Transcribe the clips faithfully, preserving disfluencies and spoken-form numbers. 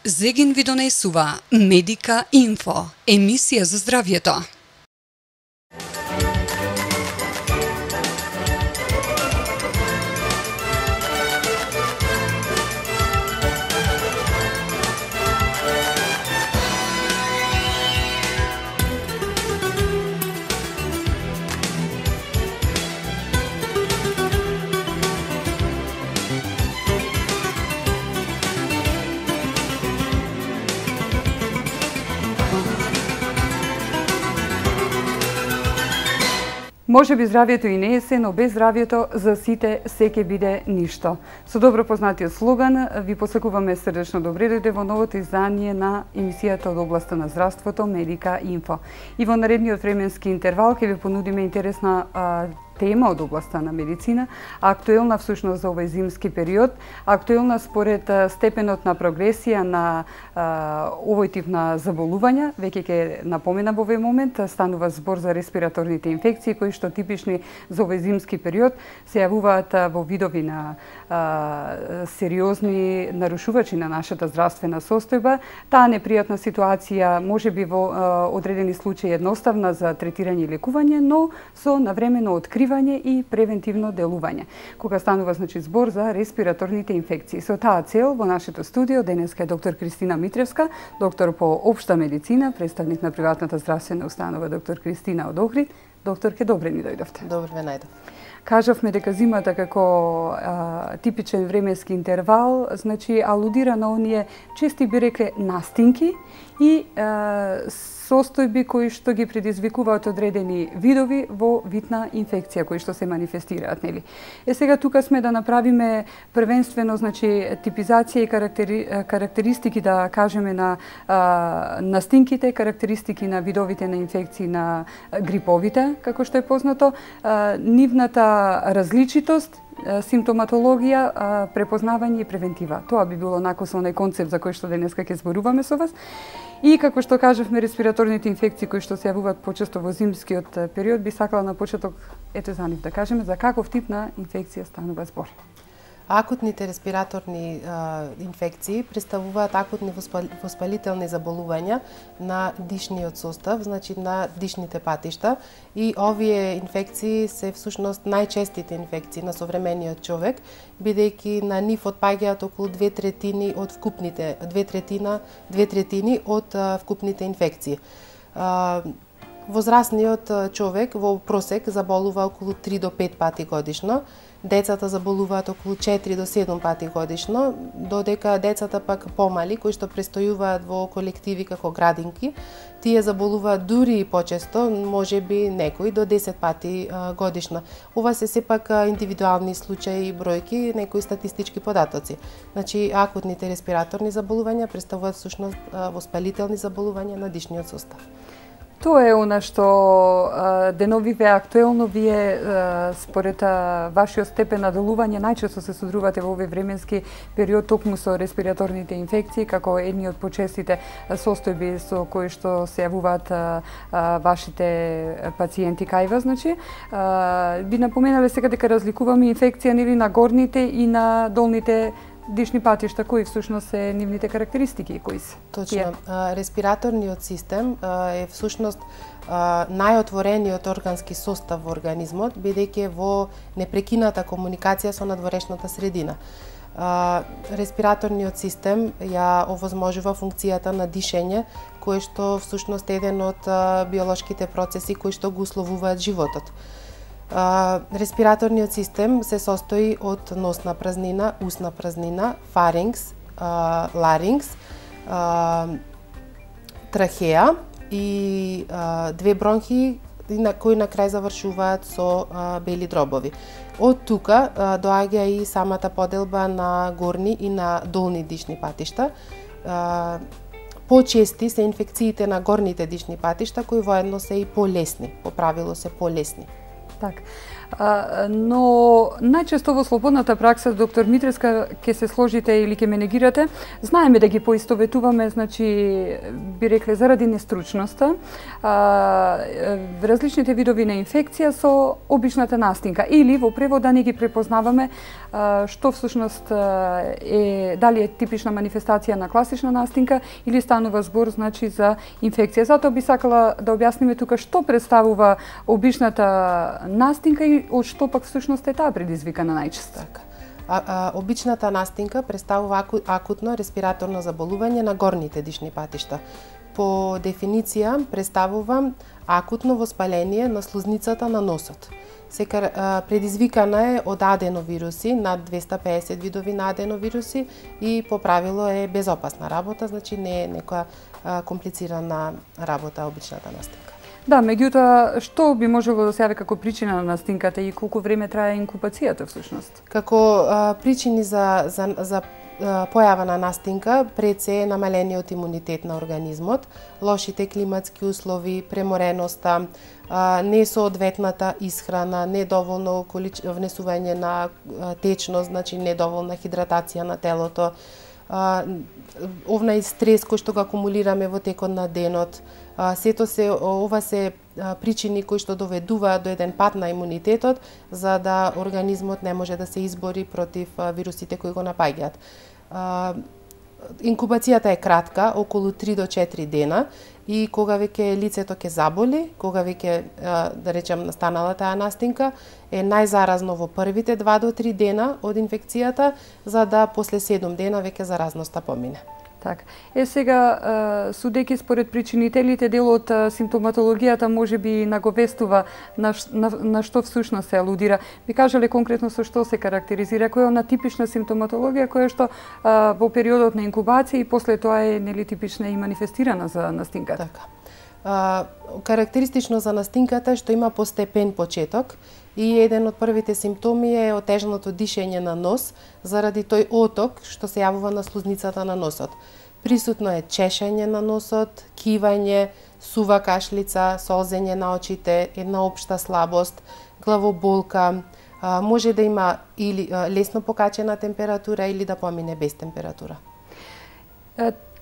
Зегин ви донесува Медика Инфо, емисија за здравјето. Може би здравјето и не е се, но без здравјето за сите се ќе биде ништо. Со добро познатиот слоган ви посакуваме срдечно добре дојде во новото издание на емисијата од областа на здравството Медика Инфо. И во наредниот временски интервал ќе ви понудиме интересна а, тема од областа на медицина, актуелна всушност за овој зимски период, актуелна според степенот на прогресија на а, овој тип на заболувања. Веќе ќе напомена во овој момент, станува збор за респираторните инфекции кои што типични за овој зимски период се јавуваат во видови на а, сериозни нарушувачи на нашата здравствена состојба. Таа непријатна ситуација може би во а, одредени случаи едноставна за третирање и лекување, но со навремено откривање и превентивно делување, кога станува значи збор за респираторните инфекции. Со таа цел во нашето студио денеска е доктор Кристина Митревска, доктор по општа медицина, представник на приватната здравствена установа доктор Кристина од Охрид. Докторке, добре ни дојдовте. Добре ве најдов. Кажавме дека зимата како а, типичен временски интервал, значи алудира на оние чести би рекле настинки и а, состојби кои што ги предизвикуваат одредени видови во вид на инфекција кои што се манифестираат, нели? Е сега тука сме да направиме првенствено значи типизација и карактери, карактеристики да кажеме на а, настинките, карактеристики на видовите на инфекции на гриповите, како што е познато, а, нивната различитост, симптоматологија, препознавање и превентива. Тоа би било нако со оној концепт за кој што денеска ќе зборуваме со вас. И како што кажавме, респираторните инфекции кои што се јавуваат почесто во зимскиот период, би сакала на почеток ете за нив да кажеме за каков тип на инфекција станува збор. Акутните респираторни а, инфекции представуваат акутни воспалителни заболувања на дишниот состав, значи на дишните патишта, и овие инфекции се всушност најчестите инфекции на современиот човек, бидејќи на нив отпаѓаат околу две третини од вкупните две третина две третини од а, вкупните инфекции. А, Возрастниот човек во просек заболува околу три до пет пати годишно. Децата заболуваат околу четири до седум пати годишно, додека децата пак помали, кои што престојуваат во колективи како градинки, тие заболуваат дури и почесто, можеби некои до десет пати а, годишно. Ова се сепак индивидуални случаи и бројки, некои статистички податоци. Значи, акутните респираторни заболувања представуваат всушност воспалителни заболувања на дишниот состав. Тоа е она што деновиве актуелно вие според вашиот степен на делување најчесто се содрувате во овој временски период токму со респираторните инфекции како едни од почестите состојби со кои што се јавуваат вашите пациенти кај вас, значи. Би напоменале сега дека разликуваме инфекција нели на горните и на долните дишни патишта, кои всушност се нивните карактеристики, кои се? Точно. Респираторниот систем е всушност најотворениот органски состав во организмот, бидејќи во непрекината комуникација со надворешната средина. Респираторниот систем ја овозможува функцијата на дишење, кој што всушност е еден од биолошките процеси кои што го условуваат животот. Uh, респираторниот систем се состои од носна празнина, устна празнина, фарингс, uh, ларингс, uh, трахеа и uh, две бронхи на кои на крај завршуваат со uh, бели дробови. Од тука uh, доаѓа и самата поделба на горни и на долни дишни патишта. Uh, Почести се инфекциите на горните дишни патишта кои воедно се и полесни, по правило се полесни. Так. но најчесто во слободната пракса, доктор Митревска, ќе се сложите или ќе ме негирате, знаеме да ги поистоветуваме, значи, би рекле, заради нестручноста, различните видови на инфекција со обичната настинка, или во превод да не ги препознаваме што всушност е, дали е типична манифестација на класична настинка или станува збор, значи, за инфекција. Затоа би сакала да објасниме тука што представува обичната настинка и од што пак всушност е таа предизвикана најчесто. Така. А, а, обичната настинка представува аку, акутно респираторно заболување на горните дишни патишта. По дефиниција представува акутно воспаление на слузницата на носот. Секар предизвикана е од аденовируси, над двесте и педесет видови на аденовируси и по правило е безопасна работа, значи не е некоја комплицирана работа обичната настинка. Да, меѓутоа, што би можело да се јави како причина на настинката и колку време трае инкубацијата всушност? Како а, причини за, за, за појава на настинка, пред се е намалениот имунитет на организмот, лошите климатски услови, премореноста, несоодветната исхрана, недоволно колич... внесување на течност, значи недоволна хидратација на телото, овнај стрес кој што го акумулираме во текот на денот. Сето се, ова се причини кои што доведуваат до еден пат на имунитетот, за да организмот не може да се избори против вирусите кои го напаѓаат. Инкубацијата е кратка, околу три до четири дена, и кога веќе лицето ќе заболи, кога веќе, да речем, настанала таа настинка, е најзаразно во првите два до три дена од инфекцијата, за да после седум дена веќе заразноста помине. Така. Е сега, судејќи според причинителите, дел од симптоматологијата може би наговестува на, на, на што всушност се алудира. Би кажале конкретно со што се карактеризира, која е она типична симптоматологија која што а, во периодот на инкубација и после тоа е нели типична и манифестирана за настинката. Така. А, карактеристично за настинката е што има постепен почеток и еден од првите симптоми е отежното дишење на нос заради тој оток што се јавува на слузницата на носот. Присутно е чешење на носот, кивање, сува кашлица, солзење на очите, една општа слабост, главоболка, а, може да има или а, лесно покачена температура или да помине без температура.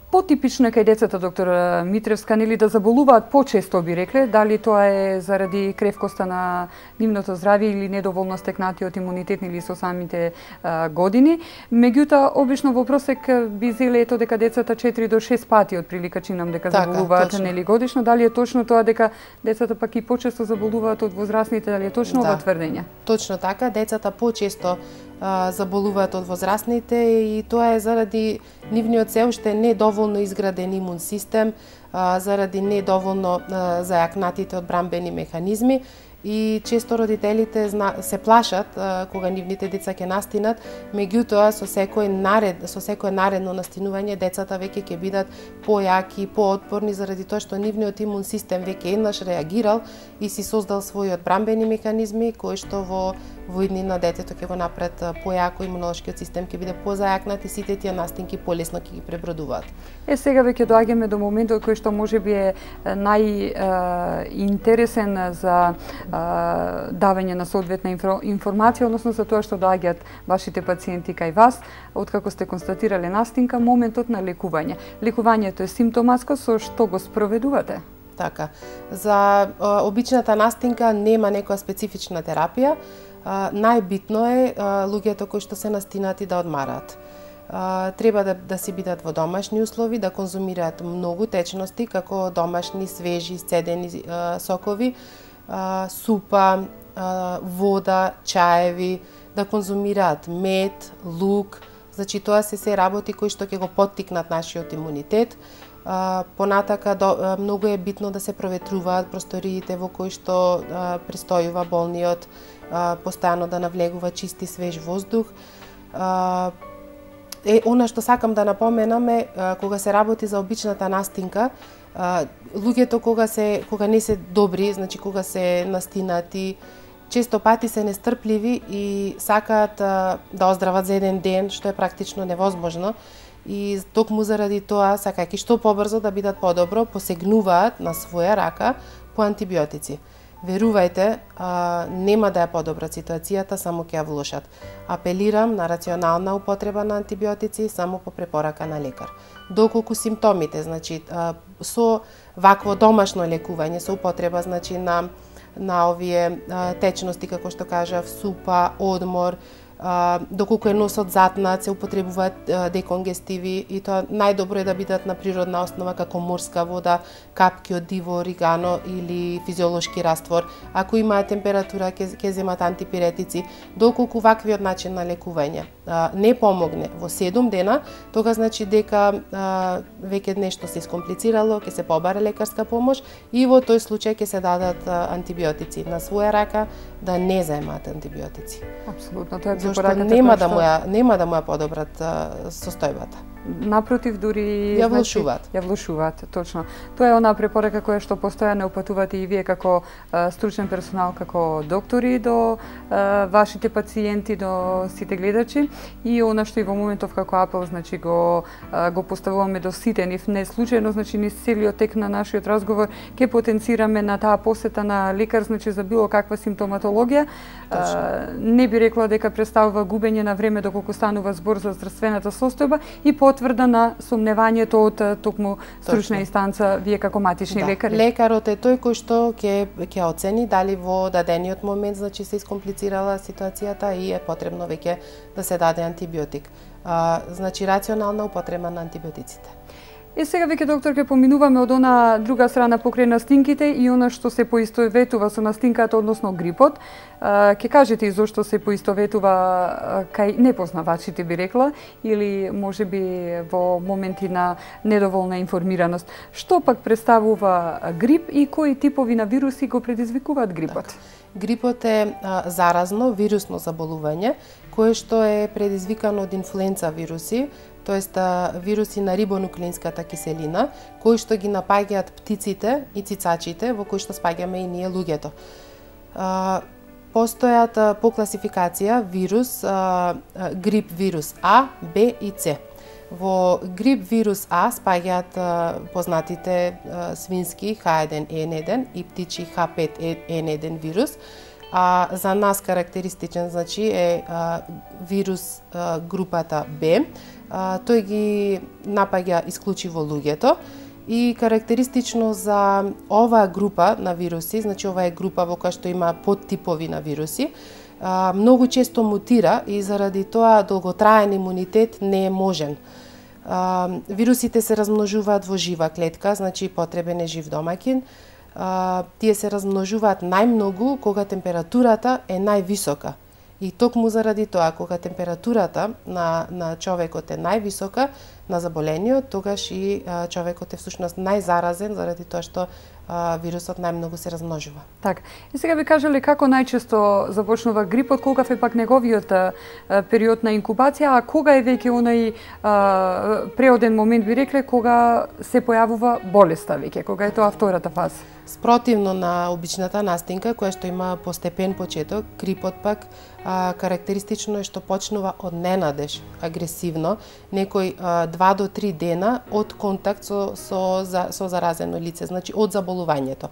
Потипично е кај децата, доктор Митревска, нели да заболуваат почесто, би рекле, дали тоа е заради кревкоста на нивното здравје или недоволно стекнатиот имунитет или со самите а, години. Меѓутоа, обично во просек би зеле ето дека децата четири до шест пати од прилика чинам дека така, заболуваат точно. Нели годишно. Дали е точно тоа дека децата пак и почесто заболуваат од возрастните, дали е точно да, ова тврдење? Точно така, децата почесто а, заболуваат од возрастните и тоа е заради нивниот се уште недоволно изграден имун систем, а, заради недоволно а, зајакнатите одбранбени механизми и често родителите зна, се плашат а, кога нивните деца ќе настинат, меѓутоа со секој наред, со секое наредно настинување децата веќе ќе бидат појаки, поотпорни заради тоа што нивниот имун систем веќе еднаш реагирал и си создал своји одбранбени механизми кои што во во иднина детето ќе го направат појако, имунолошкиот систем ќе биде позајакнат и сите тие настинки полесно ќе ги пребродуваат. Е сега веќе доаѓаме до моментот кој што можеби е најинтересен за давање на соодветна информација, односно за тоа што доаѓаат вашите пациенти кај вас, откако сте констатирале настинка, моментот на лекување. Лекувањето е симптоматско, со што го спроведувате? Така. За обичната настинка нема некоја специфична терапија. Најбитно е луѓето кои што се настинати да одмараат. Треба да, да си бидат во домашни услови, да конзумираат многу течности, како домашни, свежи, сцедени сокови, супа, вода, чаеви, да конзумираат мед, лук. Значи тоа се се работи кои што ќе го поттикнат нашиот имунитет. Понатака до, многу е битно да се проветруваат просториите во кои што престојува болниот, постојано да навлегува чист и свеж воздух. Е, она што сакам да напоменам е, кога се работи за обичната настинка, луѓето кога се кога не се добри, значи кога се настинати, често пати се нестрпливи и сакаат да оздрават за еден ден, што е практично невозможно. И токму заради тоа, сакајќи што побрзо да бидат подобро, посегнуваат на своја рака по антибиотици. Верувајте, а, нема да ја подобрат ситуацијата, само ќе ја влошат. Апелирам на рационална употреба на антибиотици само по препорака на лекар. Доколку симптомите, значи а, со вакво домашно лекување, со употреба значи на на овие а, течности како што кажав, супа, одмор, а, доколку е носот затнат, се употребуваат а, деконгестиви и тоа најдобро е да бидат на природна основа како морска вода, капки од диво оригано или физиолошки раствор. Ако имаат температура, ќе ќе земат антипиретици. Доколку ваквиот начин на лекување а, не помогне во седум дена, тога значи дека а, веќе нешто се искомплицирало, ќе се побара лекарска помош и во тој случај ќе се дадат а, антибиотици на своја рака, да не заемаат антибиотици. Апсолутно, тоа е Зошто нема да му ја нема да му ја подобрат а, состојбата. Напротив, дури ја влошуваат. Значи, ја влошуваат, точно. Тоа е онаа препорака која што постојано упатувате и вие како а, стручен персонал, како доктори до а, вашите пациенти, до сите гледачи, и она што и во моментов како апел, значи го а, го поставуваме до сите нив. Не случајно, значи низ целиот тек на нашиот разговор ќе потенцираме на таа посета на лекар, значи за било каква симптоматологија. А, не би рекла дека представува губење на време доколку станува збор за здравствената состојба и потврда на сомневањето од токму стручна инстанца, вие како матични да. лекари. Лекарот е тој кој што ќе ќе оцени дали во дадениот момент значи се искомплицирала ситуацијата и е потребно веќе да се даде антибиотик. А, значи рационална употреба на антибиотиците. И сега веќе, доктор, ќе поминуваме од она друга страна покрај настинките и она што се поистоветува со настинката, односно грипот. Ќе кажете и зошто се поистоветува кај непознавачите, би рекла, или можеби во моменти на недоволна информираност. Што пак представува грип и кои типови на вируси го предизвикуваат грипот? Так. Грипот е а, заразно вирусно заболување кое што е предизвикано од инфлуенца вируси, тоест вируси на рибонуклеинската киселина, кои што ги напаѓаат птиците и цицачите, во кои што спаѓаме и ние луѓето. А, постојат а, по класификација вирус, а, а, грип вирус А, Б и С. Во грип вирус А спаѓаат а, познатите а, свински Х еден Н еден и птичи Х пет Н еден вирус. А за нас карактеристичен значи е а, вирус а, групата Б. А, тој ги напаѓа исклучиво луѓето и карактеристично за оваа група на вируси, значи ова е група во која што има подтипови на вируси, а, многу често мутира и заради тоа долготраен имунитет не е можен. А, вирусите се размножуваат во жива клетка, значи потребен е жив домаќин. А, тие се размножуваат најмногу кога температурата е највисока. И токму заради тоа, кога температурата на, на човекот е највисока на заболениот, тогаш и а, човекот е всушност најзаразен заради тоа што а, вирусот најмногу се размножува. Так. И сега би кажале како најчесто започнува грипот, колкав е пак неговиот а, период на инкубација, а кога е веќе онај а, преоден момент, би рекле, кога се појавува болеста веќе, кога е тоа втората фаза? Спротивно на обичната настинка, која што има постепен почеток, грипот пак а, карактеристично е што почнува од ненадеж, агресивно, некој а, два до три дена од контакт со, со, со, со заразено лице, значи од заболувањето.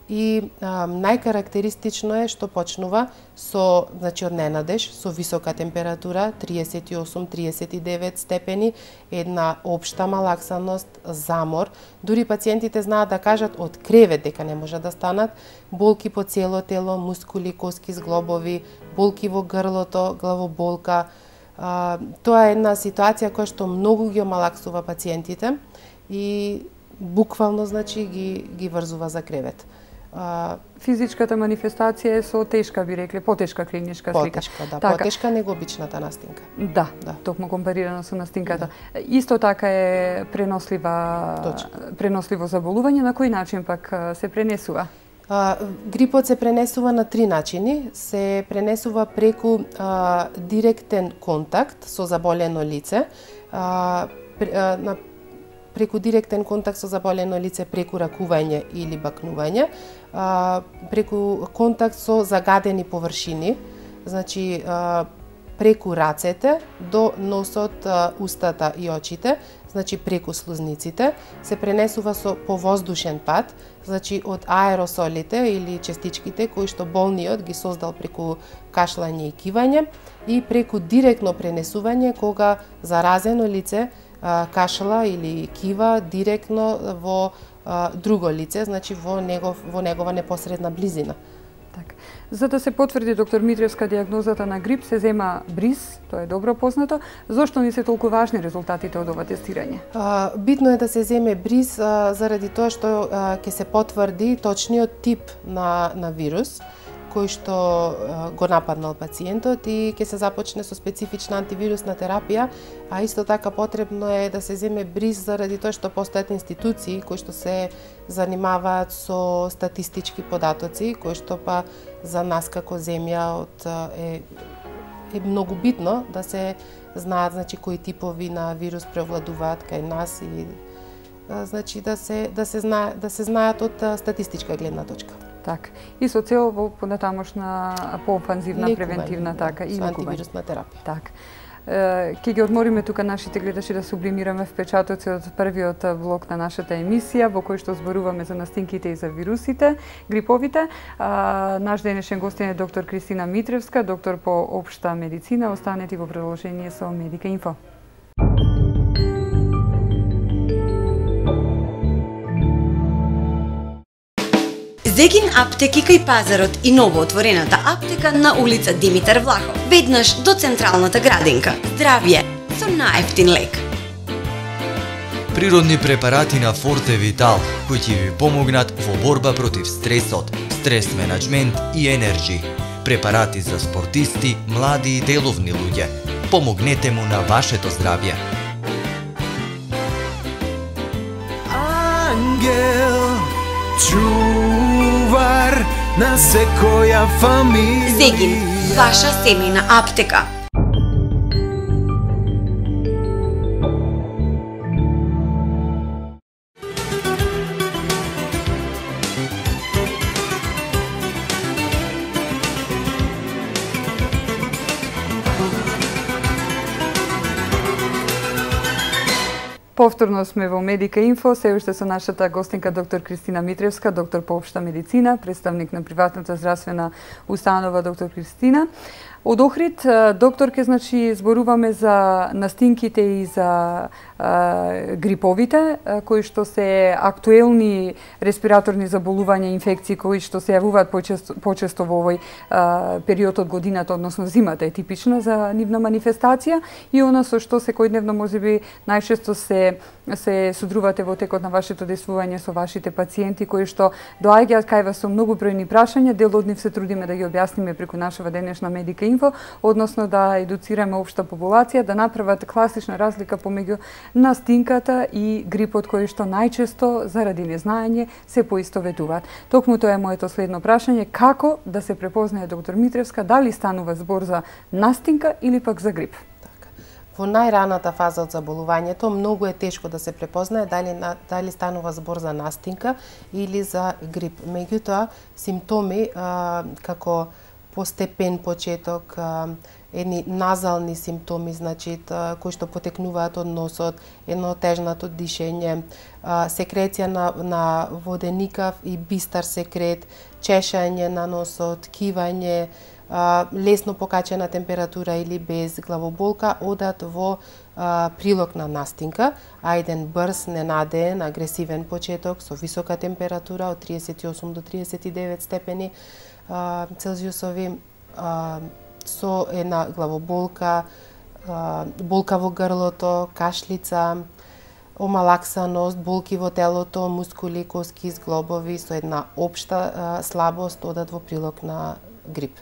И а, најкарактеристично е што почнува со, значи од ненадеж, со висока температура, триесет и осум до триесет и девет степени, една општа малаксаност, замор. Дури пациентите знаат да кажат од кревет дека не може да станат, болки по цело тело, мускули, коски, зглобови, болки во грлото, главоболка. А, тоа е една ситуација која што многу ги омалаксува пациентите и буквално значи ги ги врзува за кревет. А, физичката манифестација е со тешка, би рекле, потешка клиничка слика. Потешка, да, така. Потешка него обичната настинка. Да, да, токму компарирано со настинката. Да. Исто така е пренослива, Точно. преносливо заболување, на кој начин пак се пренесува? А, грипот се пренесува на три начини. Се пренесува преку а, директен контакт со заболено лице, а, пр, а, на преку директен контакт со заболено лице преку ракување или бакнување, а, преку контакт со загадени површини, значи а, преку рацете до носот, устата и очите, значи преку слузниците, се пренесува со повоздушен пат, значи од аеросолите или частичките кои што болниот ги создал преку кашлање и кивање, и преку директно пренесување кога заразено лице кашла или кива директно во друго лице, значи во негов во негова непосредна близина. Так. За да се потврди, доктор Митревска, диагнозата на грип, се зема бриз, тоа е добро познато. Зошто ни се толку важни резултатите од ова тестирање? А, битно е да се земе бриз а, заради тоа што ќе се потврди точниот тип на, на вирус кој што а, го нападнал пациентот и ќе се започне со специфична антивирусна терапија, а исто така потребно е да се земе бриз заради тоа што постојат институции кои што се занимаваат со статистички податоци, кои што па за нас како земја од е е многу битно да се знаат, значи, кои типови на вирус превладуваат кај нас и значи да се да се знае да се знаат од статистичка гледна точка. Так. И со цел во понатамошна поофанзивна превентивна така и антивирусна терапија. Так. Ќе ги одмориме тука нашите гледачи да сублимираме впечатоци од првиот блок на нашата емисија во кој што зборуваме за настинките и за вирусите, гриповите. Наш денешен гостин е доктор Кристина Митревска, доктор по општа медицина. Останете во продолжение со Медика Инфо. Зегин аптеки кај пазарот и новоотворената аптека на улица Димитар Влахов, веднаш до централната градинка. Здравје со најефтин лек. Природни препарати на Форте Витал кои ќе ви помогнат во борба против стресот, стрес менеджмент и енерджи. Препарати за спортисти, млади и деловни луѓе. Помогнете му на вашето здравје. Ангел чувар на секоја фамилија. Зегин, ваша семејна аптека. Повторно сме во Медика Инфо, се уште со нашата гостинка доктор Кристина Митревска, доктор по општа медицина, представник на приватната здравствена установа доктор Кристина. Од Охрид, докторке, значи, зборуваме за настинките и за а, гриповите, а, кои што се актуелни респираторни заболувања, инфекции, кои што се јавуваат почесто, почесто во овој а, период од годината, односно зимата е типична за нивна манифестација и она со што секојдневно можеби најчесто се се судрувате во текот на вашето действување со вашите пациенти кои што доаѓаат кај вас со многу бројни прашања, дел од нив се трудиме да ги објасниме преку нашава денешна Медика Инфо, односно да едуцираме општа популација да направат класична разлика помеѓу настинката и грипот кои што најчесто заради незнаење се поистоветуваат. Токму тоа е моето следно прашање, како да се препознае доктор Митревска дали станува збор за настинка или пак за грип? Во најраната фаза од заболувањето многу е тешко да се препознае дали дали станува збор за настинка или за грип. Меѓутоа, симптоми а, како постепен почеток, а, едни назални симптоми, значи кои што потекнуваат од носот, едно тежнато дишење, а, секреција на, на воденикав и бистар секрет, чешање на носот, кивање, а, лесно покачена температура или без главоболка, одат во а, прилог на настинка, а еден брз, ненадеен, агресивен почеток со висока температура од триесет и осум до триесет и девет степени а, Целзиусови, а, со една главоболка, а, болка во грлото, кашлица, омалаксаност, болки во телото, мускули, коски, зглобови, со една општа а, слабост одат во прилог на грип.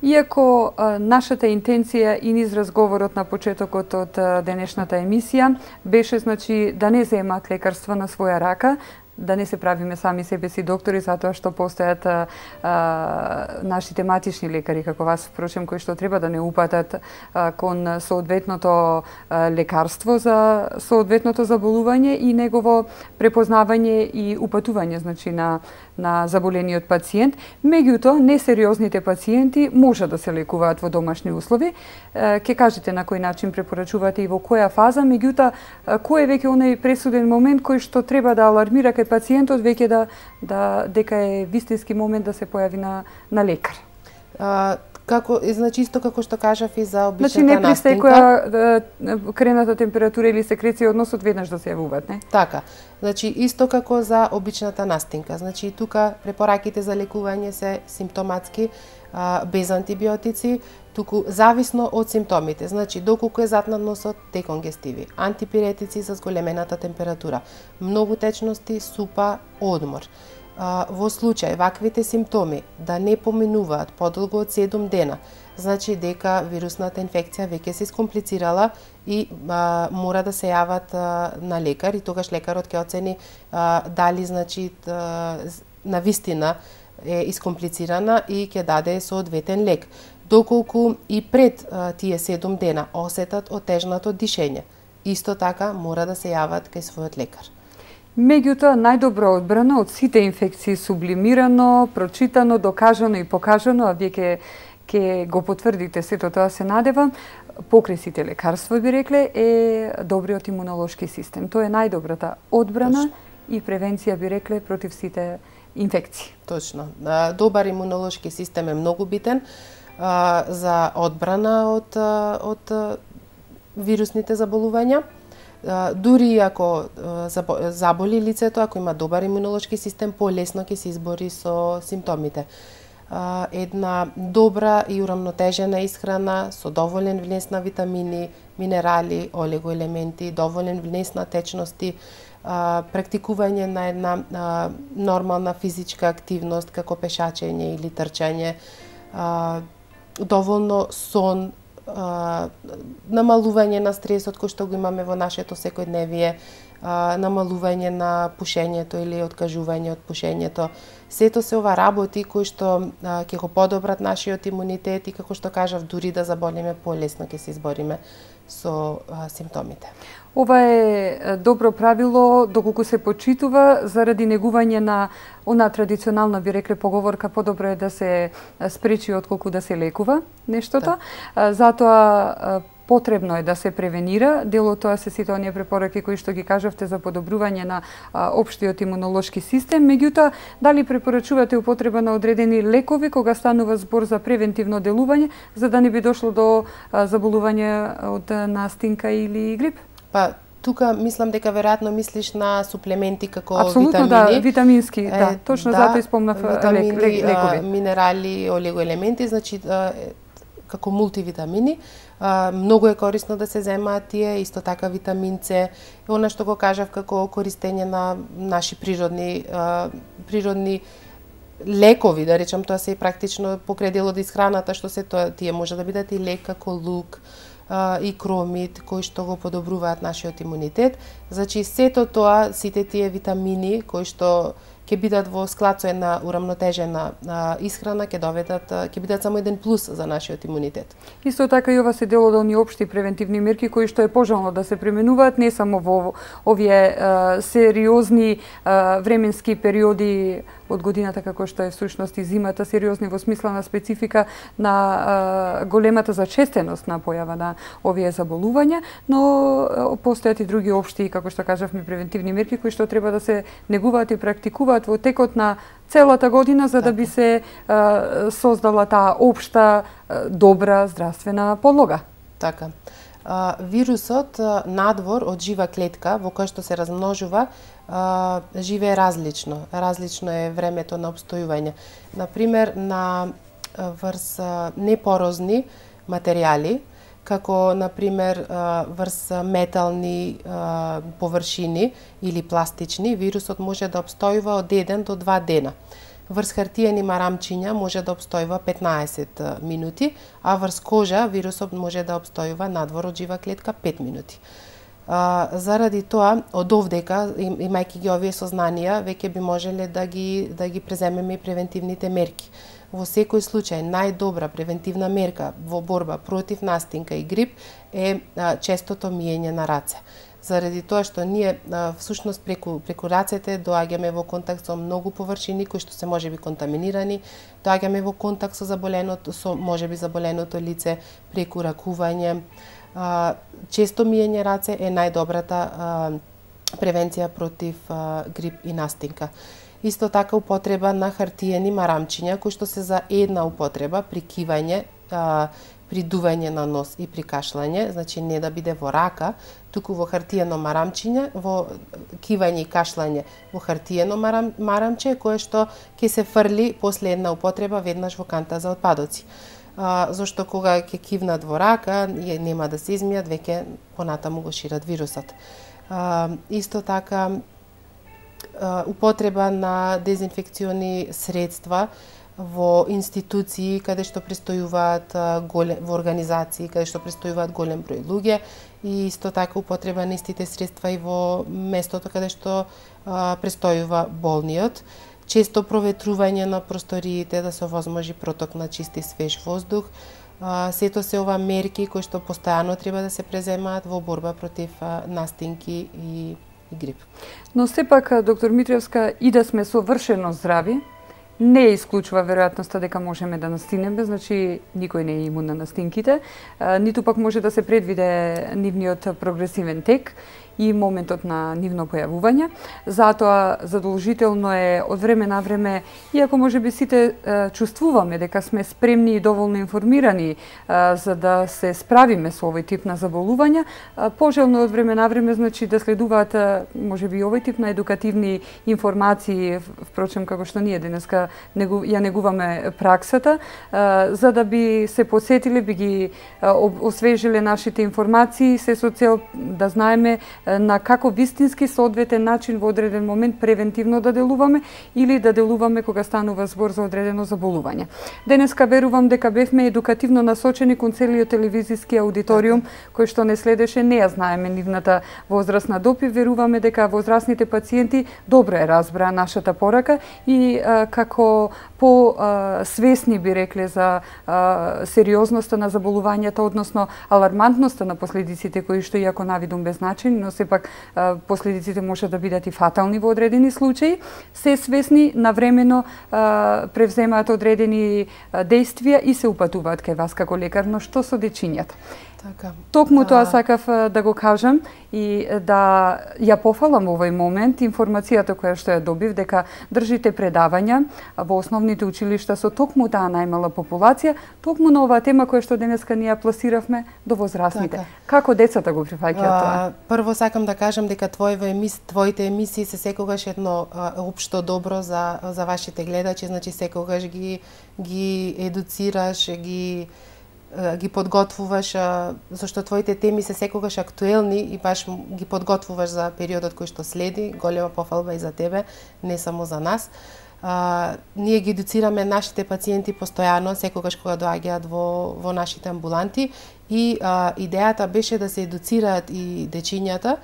Иако а, нашата интенција и низ разговорот на почетокот од а, денешната емисија беше, значи, да не земат лекарства на своја рака, да не се правиме сами себе си доктори, затоа што постојат а, а, наши тематични лекари, како вас, впрочем, кои што треба да не упатат а, кон соодветното а, лекарство за соодветното заболување и негово препознавање и упатување, значи, на, на заболениот пациент. Меѓутоа, несериозните пациенти може да се лекуваат во домашни услови. Ке кажете на кој начин препорачувате и во која фаза, меѓутоа, кој е веќе оној пресуден момент кој што треба да алармира кај пациентот веќе да, да дека е вистински момент да се појави на, на лекар? А, како, значи исто како што кажав и за обичната значи, не при настинка. секоја крената температура или секреција односот веднаш да се јавуваат, не? Така. Значи исто како за обичната настинка. Значи тука препораките за лекување се симптоматски, а, без антибиотици, туку зависно од симптомите. Значи доколку е зад на носот, деконгестиви, антипиретици за зголемената температура, многу течности, супа, одмор. А, во случај ваквите симптоми да не поминуваат подолго од седум дена, значи дека вирусната инфекција веќе се искомплицирала и а, мора да се јават а, на лекар и тогаш лекарот ќе оцени а, дали значи а, на вистина е искомплицирана и ќе даде соодветен лек. Доколку и пред а, тие седум дена осетат отежнато дишење, исто така мора да се јават кај својот лекар. Меѓутоа, најдобро одбрана од сите инфекции, сублимирано, прочитано, докажано и покажано, а вие ке, ке го потврдите сето тоа, се надевам, покрај сите лекарства, би рекле, е добриот имунолошки систем. Тоа е најдобрата одбрана Точно. И превенција, би рекле, против сите инфекции. Точно. Добар имунолошки систем е многу битен а, за одбрана од, од вирусните заболувања. Дури ако заболи лицето, ако има добар имунолошки систем, полесно ќе се избори со симптомите. Една добра и урамнотежена исхрана со доволен внес на витамини, минерали, олигоелементи, доволен внес на течности, практикување на една нормална физичка активност како пешачење или трчање, доволно сон, Uh, намалување на стресот кој што го имаме во нашето секојдневие, uh, намалување на пушењето или откажување од пушењето. Сето се ова работи кои што uh, ќе го подобрат нашиот имунитет и како што кажав, дури да заболеме, полесно ќе се избориме со uh, симптомите. Ова е добро правило доколку се почитува заради негување на она традиционална, би рекле, поговорка подобро е да се спречи отколку да се лекува нештото. Да. Затоа потребно е да се превенира. Дел од тоа се сите оние препораки кои што ги кажавте за подобрување на општиот имунолошки систем. Меѓутоа, дали препорачувате употреба на одредени лекови кога станува збор за превентивно делување, за да не би дошло до заболување од настинка или грип? Па, тука мислам дека веројатно мислиш на суплементи како Апсолутно, витамини. Да, витамински, да, точно да, затоа испомнав витамини, лек, лекови. Минерали, олигоелементи, значи како мултивитамини. Многу е корисно да се земаат тие, исто така витамин С. Она што го кажав како користење на наши природни природни лекови, да речам, тоа се и практично покрај дел од исхраната, што се тоа тие може да бидат и лек како лук, и кромит, кои што го подобруваат нашиот имунитет. Значи, сето тоа, сите тие витамини кои што ќе бидат во склад со една урамнотежена а, исхрана, ќе доведат, ќе бидат само еден плюс за нашиот имунитет. Исто така и ова се дел од оние општи превентивни мерки кои што е пожелно да се применуваат не само во овие а, сериозни а, временски периоди од годината, како што е всушност и зимата, сериозни во смисла на специфика на а, големата зачестеност на појава на овие заболувања, но а, постојат и други општи, како што кажавме, превентивни мерки кои што треба да се негуваат и практикуваат во текот на целата година, за да би се а, создала таа општа а, добра здравствена подлога. Така. А, вирусот а, надвор од жива клетка во која што се размножува а, живее различно. Различно е времето на обстојување. Например, на врз а, непорозни материјали, како например врз метални а, површини или пластични, вирусот може да обстојува од еден до два дена. Врз хартиени марамчиња може да обстојува петнаесет минути, а врз кожа вирусот може да обстојува надвор од жива клетка пет минути. А, заради тоа, од овдека, им, имајќи ги овие сознанија, веќе би можеле да ги, да ги преземеме и превентивните мерки. Во секој случај, најдобра превентивна мерка во борба против настинка и грип е а, честото миење на раце. Заради тоа што ние а, всушност преку, преку рацете доаѓаме во контакт со многу површини кои што се можеби контаминирани, доаѓаме во контакт со заболеното, со можеби заболеното лице преку ракување. А, често миење раце е најдобрата а, превенција против а, грип и настинка. Исто така употреба на хартиени марамчиња кои што се за една употреба при кивање, а, при дување на нос и при кашлање, значи не да биде во рака, туку во хартиено марамчиње, во кивање и кашлање во хартиено марам, марамче кое што ќе се фрли после една употреба веднаш во канта за отпадоци. А, зашто кога ќе кивнат во рака, нема да се измијат, веќе понатаму го шират вирусот. А, исто така а, употреба на дезинфекциони средства во институции каде што престојуваат голем, во организации каде што престојуваат голем број луѓе и исто така употреба на истите средства и во местото каде што а, престојува болниот. Често проветрување на просториите да се овозможи проток на чист и свеж воздух. А, сето се ова мерки кои што постојано треба да се преземаат во борба против а, настинки и, и грип. Но сепак, доктор Митревска, и да сме совршено здрави, не исклучува веројатноста дека можеме да настинеме, значи никој не е имун на настинките, ниту пак може да се предвиде нивниот прогресивен тек и моментот на нивно појавување. Затоа задолжително е од време на време, иако можеби сите е, чувствуваме дека сме спремни и доволно информирани е, за да се справиме со овој тип на заболувања, е, пожелно од време на време значи да следуваат е, можеби овој тип на едукативни информации, впрочем како што ние денеска негу, ја негуваме праксата, е, за да би се подсетиле, би ги е, освежиле нашите информации, се со цел да знаеме на како вистински соодветен начин во одреден момент превентивно да делуваме или да делуваме кога станува збор за одредено заболување. Денеска верувам дека бевме едукативно насочени кон целиот телевизиски аудиториум кој што не следеше, не ја знаеме нивната возрастна доп и веруваме дека возрастните пациенти добро е разбраа нашата порака и а, како по а, свесни би рекле за а, сериозноста на заболувањата, односно алармантноста на последиците кои што иако навидум беззначени, но сепак а, последиците може да бидат и фатални во одредени случаи, се свесни навремено а, превземаат одредени а, действија и се упатуваат кај вас како лекар, но што со дечињата? Така. Токму тоа сакав да го кажам и да ја пофалам во овој момент информацијата која што ја добив дека држите предавања во основните училишта со токму таа најмала популација, токму на оваа тема која што денеска ние ја пласиравме до возрастните. Така. Како децата го прифаќаат тоа? Прво сакам да кажам дека твоите емисии, твоите емисии се секогаш едно а, општо добро за за вашите гледачи, значи секогаш ги ги едуцираш, ги ги подготвуваш, зашто твоите теми се секогаш актуелни и баш ги подготвуваш за периодот кој што следи. Голема пофалба и за тебе, не само за нас. А, ние ги едуцираме нашите пациенти постојано, секогаш кога доаѓаат во, во нашите амбуланти и а, идејата беше да се едуцираат и дечињата,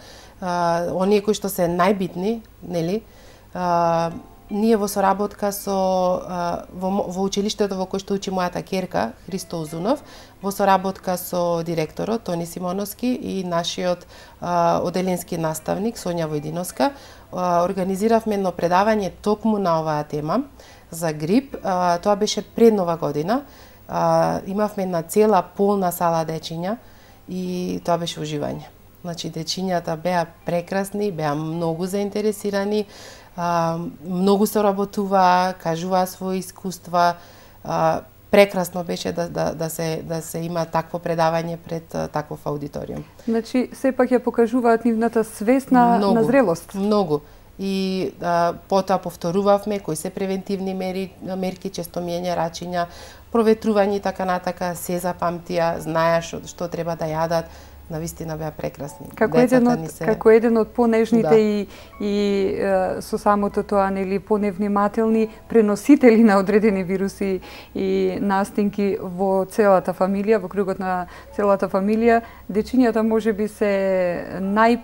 а, оние кои што се најбитни, нели? А, ние во соработка со во, во училиштето во кој што учи мојата ќерка Христо Узунов, во соработка со директорот Тони Симоновски и нашиот а, оделенски наставник Сонја Војдиновска, а, организиравме едно предавање токму на оваа тема за грип. А, тоа беше пред Нова година. А, имавме една цела полна сала дечиња и тоа беше уживање. Значи дечињата беа прекрасни, беа многу заинтересирани. А, многу се работува, кажуваа своји искуства. А, прекрасно беше да, да, да, се, да се има такво предавање пред а, таков аудиториум. Значи, сепак ја покажуваат нивната свест на, многу, на зрелост. Многу. И а, потоа повторувавме кои се превентивни мери, мерки, често миење рачиња, проветрување и така натака, се запамтија, знаеа што, што треба да јадат. навистина беа прекрасни. Како еден од се... како еден од понежните да. и и е, со самото тоа нели поневнимателни преносители на одредени вируси и настинки во целата фамилија, во кругот на целата фамилија, дечињата можеби се нај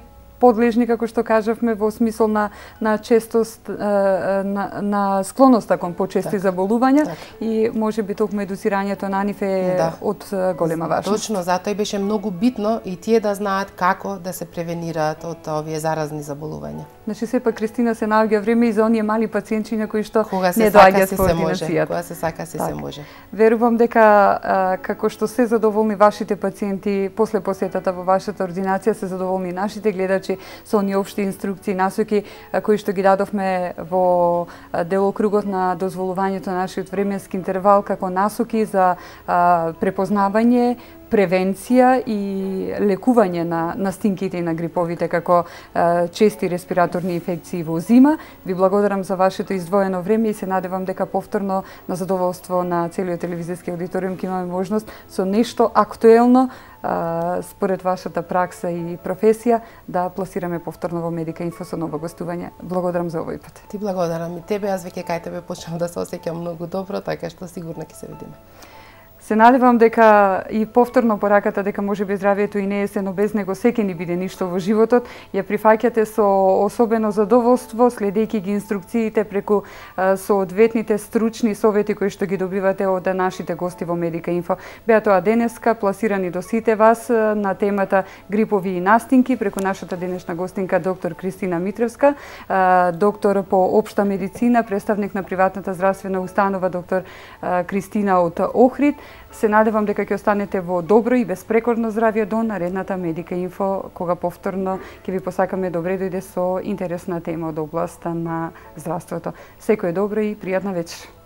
подлежни, како што кажавме, во смисол на, на честост, на, на склоноста кон почести так, заболувања так. И може би токму едуцирањето на нив е да. од голема важност. Точно, затоа и беше многу битно и тие да знаат како да се превенираат од овие заразни заболувања. Значи сепак Кристина се наоѓа време и за оние мали пациентчиња кои што не доаѓаат во ординацијата. Кога се сака се се може. Верувам дека а, како што се задоволни вашите пациенти после посетата во вашата ординација, се задоволни нашите гледачи со оние општи инструкции, насоки кои што ги дадовме во делокругот на дозволувањето на нашиот временски интервал како насоки за а, препознавање, превенција и лекување на настинките и на гриповите како а, чести респираторни инфекции во зима. Ви благодарам за вашето издвоено време и се надевам дека повторно на задоволство на целиот телевизиски аудиториум ќе имаме можност со нешто актуелно а, според вашата пракса и професија да пласираме повторно во Медика Инфо со ново гостување. Благодарам за овој пат. Ти благодарам и тебе, аз веќе кај тебе почнав да се осеќам многу добро, така што сигурно ќе се видиме. Се надевам дека и повторно пораката дека можеби здравието и не е се, но без него секи ни биде ништо во животот, ја прифаќате со особено задоволство, следејќи ги инструкциите преку соодветните стручни совети кои што ги добивате од нашите гости во Медика Инфо. Беа тоа денеска пласирани до сите вас на темата грипови и настинки преку нашата денешна гостинка доктор Кристина Митревска, доктор по општа медицина, представник на приватната здравствена установа доктор Кристина од Охрид. Се надевам дека ќе останете во добро и безпрекорно здравје до наредната Медика Инфо, кога повторно ќе ви посакаме добре дојде со интересна тема од областа на здравството. Секој добро и пријатна вечер.